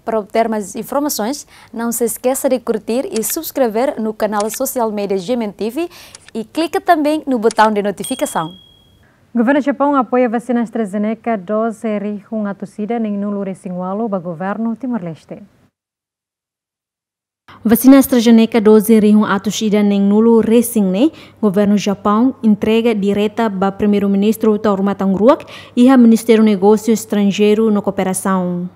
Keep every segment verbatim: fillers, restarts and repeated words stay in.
Para obter mais informações, não se esqueça de curtir e subscrever no canal social media G M N T V e clica também no botão de notificação. Governu Japaun apoia vasina AstraZeneca dose rihun atus ida neen-nulu resin ualu ba governu Timor-Leste. Vasina AstraZeneca dose rihun atus ida neen-nulu resin ne'e, governu Japaun entrega direta ba Primeiru-Ministru Taur Matan Ruak iha Ministériu Negósiu Estranjeiru no Kooperasaun.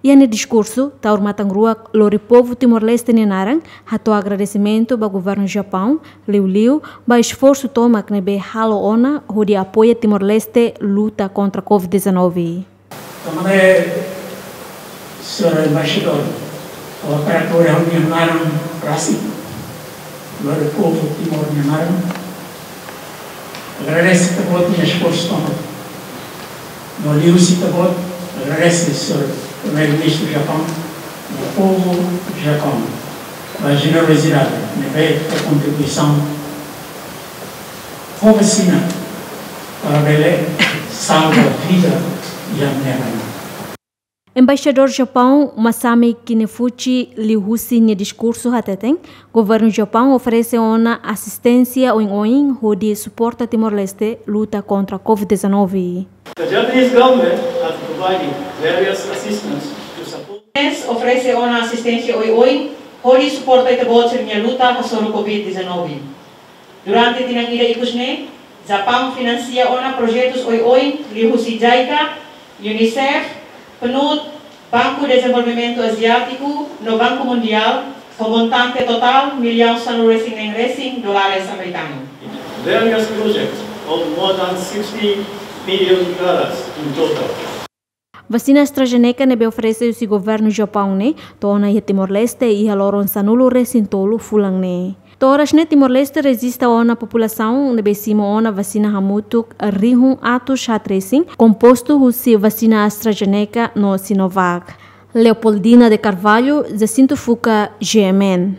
Iha nia diskursu, Taur Matan Ruak lori povu Timor-Leste nia naran, hato'o agradesimentu ba governu Japaun, liuliu ba esforsu tomak ne'ebé halo ona hodi apoia Timor-Leste luta kontra covid dezanove. Tanba ne'e, señór embaixadór, ha'u hakarak lori ha'u-nia naran rasik, lori povu Timor nia naran, agradese ita-boot nia esforsu tomak. No liuhusi ita-boot, agradese señór Primeiru-Ministru Japaun, no povu Japaun, ba jenerosidade ne'ebé fó kontribuisaun ho vasina para bele salva vida iha ne'e. Embaixadór Japaun, Masami Kinefuchi, liuhusi nia diskursu hateten, governu Japaun oferese ona asisténsia oin-oin hodi suporta Timor-Leste luta kontra covid dezanove. The Japanese government has provided various assistance to support. Japaun oferese ona asisténsia oioin hodi suporta ita-boot sira-nia luta hasoru covid dezanove. Durante tinan ida ikus ne'e, Japaun finansia ona projetus oioin liuhusi JICA, UNICEF, PNUD, Banku Dezenvolvimentu Aziátiku no Banku Mundiál, ho montante totál millaun sanulu resin neen resin dólares amerikanu. Various projects of more than sixty million dollars in total. Vasina AstraZeneca ne'ebé oferese husi governu Japaun ne'e to'o ona iha Timor-Leste iha loron sanulu resin tolu fulan ne'e. To'o oras ne'e Timor-Leste rejista ona populasaun ne'ebé simu ona vasina hamutuk rihun atus haat resin, kompostu husi vasina AstraZeneca no Sinovac. Leopoldina de Carvalho, Jacinto Fuca, G M N.